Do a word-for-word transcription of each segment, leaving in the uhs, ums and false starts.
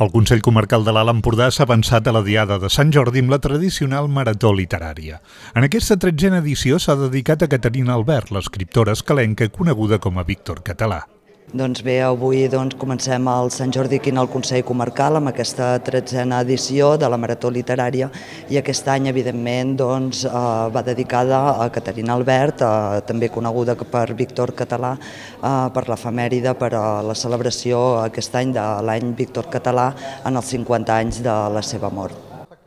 El Consell Comarcal de l'Alt Empordà s'ha avançat a la Diada de Sant Jordi amb la tradicional marató literària. En aquesta tretzena edició s'ha dedicat a Caterina Albert, l'escriptora escalenca coneguda com a Víctor Català. Doncs bé, avui doncs, comencem el Sant Jordi aquí al Consell Comarcal amb aquesta tretzena edició de la Marató Literària i aquest any, evidentment, doncs, eh, va dedicada a Caterina Albert, eh, també coneguda per Víctor Català, eh, per l'efemèride, per a la celebració aquest any de l'any Víctor Català en els cinquanta anys de la seva mort.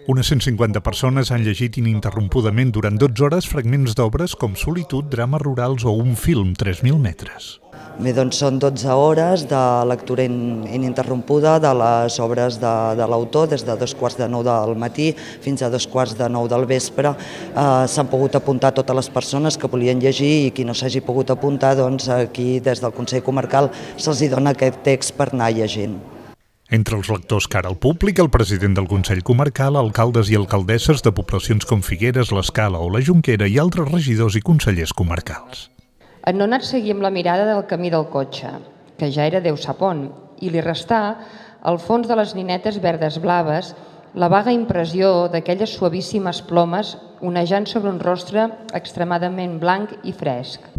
Unes cent cinquanta persones han llegit ininterrompudament durant dotze hores fragments d'obres com Solitud, Drames rurals o un film, tres mil metres. Bé, doncs són dotze hores de lectura ininterrompuda de les obres de, de l'autor, des de dos quarts de nou del matí fins a dos quarts de nou del vespre. Eh, S'han pogut apuntar totes les persones que volien llegir i qui no s'hagi pogut apuntar, doncs aquí des del Consell Comarcal se'ls dona aquest text per anar llegint. Entre els lectors cara al públic, el president del Consell Comarcal, alcaldes i alcaldesses de poblacions com Figueres, l'Escala o la Jonquera i altres regidors i consellers comarcals. En Nonat seguia amb la mirada del camí del cotxe, que ja era Déu sap on, i li restà, al fons de les ninetes verdes blaves, la vaga impressió d'aquelles suavíssimes plomes onejant sobre un rostre extremadament blanc i fresc.